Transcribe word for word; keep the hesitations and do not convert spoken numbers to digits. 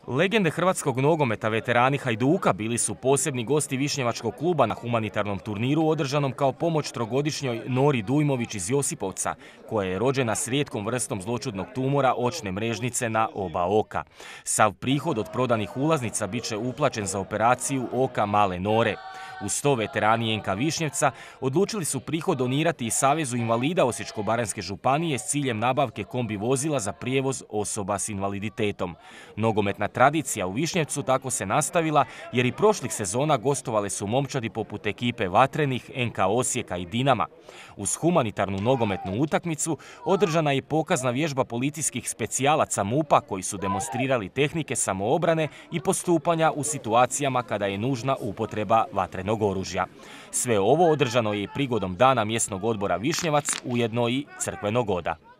Legende hrvatskog nogometa, veterani Hajduka, bili su posebni gosti Višnjevačkog kluba na humanitarnom turniru održanom kao pomoć trogodišnjoj Nori Dujmović iz Josipovca, koja je rođena s rijetkom vrstom zloćudnog tumora očne mrežnice na oba oka. Sav prihod od prodanih ulaznica bit će uplaćen za operaciju oka male Nore. Uz to veterani en ka Višnjevca odlučili su prihod donirati i Savezu invalida Osječko-baranjske županije s ciljem nabavke kombi vozila za prijevoz osoba s invaliditetom. Nogometna tradicija u Višnjevcu tako se nastavila jer i prošlih sezona gostovale su momčadi poput ekipe Vatrenih, en ka Osijeka i Dinama. Uz humanitarnu nogometnu utakmicu održana je pokazna vježba policijskih specijalaca MUP-a koji su demonstrirali tehnike samoobrane i postupanja u situacijama kada je nužna upotreba vatrenog oružja. Sve ovo održano je i prigodom Dana mjesnog odbora Višnjevac, ujedno i crkvenog goda.